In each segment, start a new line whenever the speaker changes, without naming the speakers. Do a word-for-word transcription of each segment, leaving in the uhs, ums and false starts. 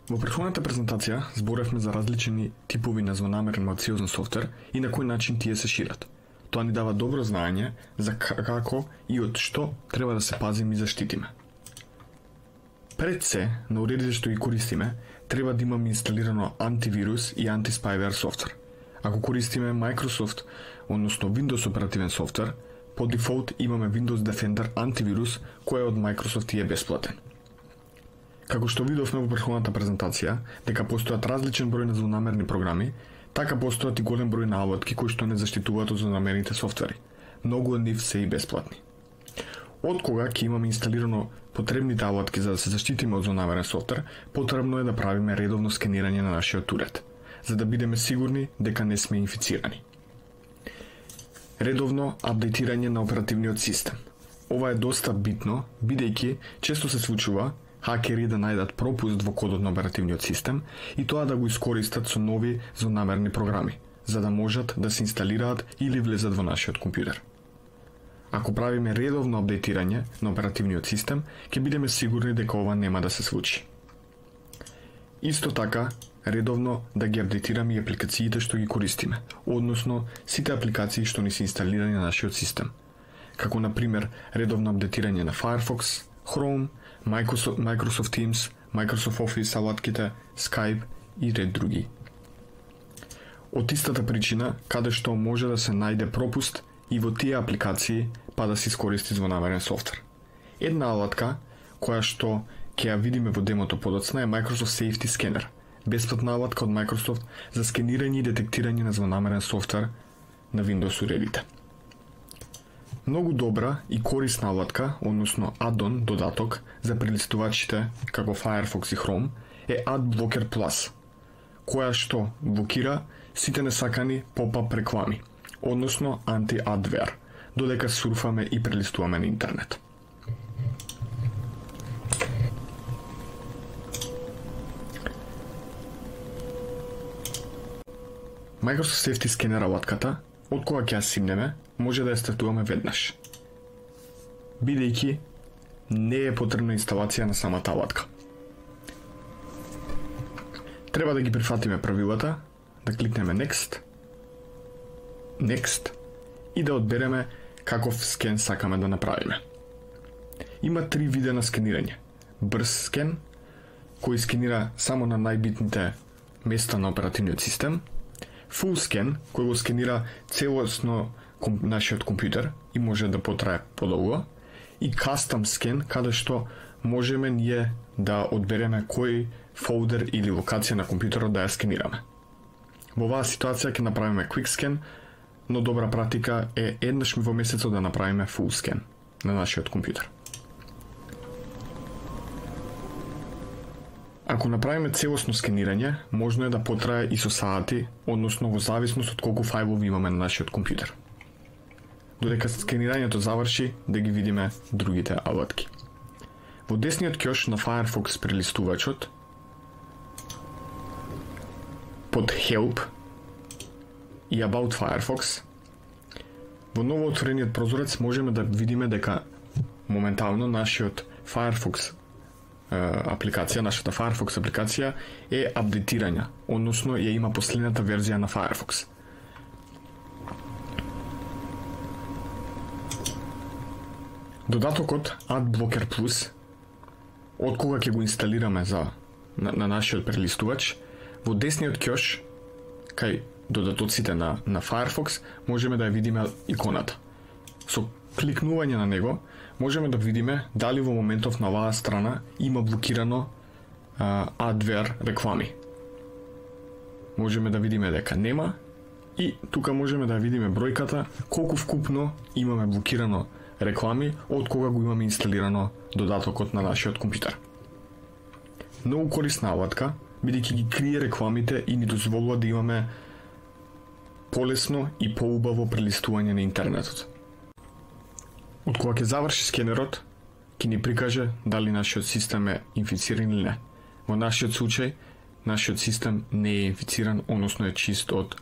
Во претходната презентација зборевме за различни типови на злонамерен малциозен софтвер и на кој начин тие се шират. Тоа ни дава добро знаење за како и од што треба да се пазиме и заштитиме. Пред се, на уредите што ги користиме, треба да имаме инсталирано антивирус и антиспyware софтвер. Ако користиме Microsoft, односно Windows оперативен софтвер, по дефолт имаме Windows Defender антивирус кој од Microsoft и е бесплатен. Како што видовме во претходната презентација, дека постојат различен број на злонамерни програми, така постојат и голем број наводки кои што не заштитуваат од злонамерните софтвери. Многу од нив се и бесплатни. Од кога ќе имаме инсталирано потребните наводки за да се заштитиме од злонамерен софтвер, потребно е да правиме редовно скенирање на нашиот уред, за да бидеме сигурни дека не сме инфицирани. Редовно апдейтирање на оперативниот систем. Ова е доста битно, бидејќи често се случува хакери да најдат пропуст во кодот на оперативниот систем и тоа да го искористат со нови злонамерни програми, за да можат да се инсталираат или влезат во нашиот компјутер. Ако правиме редовно апдейтирање на оперативниот систем, ќе бидеме сигурни дека ова нема да се случи. Исто така, редовно да ги апдейтираме и апликациите што ги користиме, односно сите апликации што ни се инсталирани на нашиот систем, како на пример редовно апдейтирање на Firefox, Chrome, Microsoft, Microsoft Teams, Microsoft Office алатките, Skype и ред други. Од истата причина, каде што може да се најде пропуст и во тие апликации па да се искористи злонамерен софтвер. Една алатка, која што ќе ја видиме во демото подоцна е Microsoft Safety Scanner, бесплатна алатка од Microsoft за скенирање и детектирање на злонамерен софтвер на Windows уредите. Многу добра и корисна алатка, односно add-on додаток за прелистувачите како Firefox и Chrome е AdBlocker Plus, која што блокира сите несакани поп-ап реклами, односно anti-adware, додека сурфаме и прелистуваме на интернет. Microsoft Safety Scanner алатката, од кога ќе ја симнеме, може да ја стартуваме веднаш, бидејќи не е потребна инсталација на самата алатка. Треба да ги прифатиме правилата, да кликнеме Next, Next и да одбереме каков скен сакаме да направиме. Има три вида на скенирање. Брз скен, кој скенира само на најбитните места на оперативниот систем, Full Scan, кој го скенира целосно ком, нашиот компјутер и може да потрае подолго, и Custom Scan, каде што можеме ние да одбереме кој фолдер или локација на компјутерот да ја скенираме. Во оваа ситуација ќе направиме Quick Scan, но добра практика е еднаш во месецот да направиме Full Scan на нашиот компјутер. Ако направиме целосно скенирање, можно е да потрае и со сати, односно во зависност од колку фајлови имаме на нашиот компјутер. Додека скенирањето заврши, да ги видиме другите алатки. Во десниот ќош на Firefox прелистувачот, под Help и About Firefox, во ново отворениот прозорец можеме да видиме дека моментално нашиот Firefox апликација, нашата Firefox апликација е апдейтирања, односно ја има последната верзија на Firefox. Додатокот AdBlocker Plus, од кога ќе го инсталираме за на, на нашиот прелистувач, во десниот ќош кај додатоците на на Firefox можеме да ја видиме иконата. Со кликнување на него можеме да видиме дали во моментов на оваа страна има блокирано а, adware реклами. Можеме да видиме дека нема и тука можеме да видиме бројката колку вкупно имаме блокирано реклами од кога го имаме инсталирано додатокот на нашиот компјутер. Многу корисна алатка, бидејќи ги крие рекламите и ни дозволува да имаме полесно и поубаво прелистување на интернетот. Од кога ќе заврши скенерот, ќе ни прикаже дали нашиот систем е инфициран или не. Во нашиот случај, нашиот систем не е инфициран, односно е чист од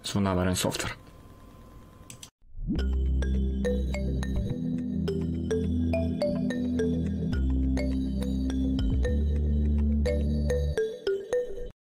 злонамерен софтвер.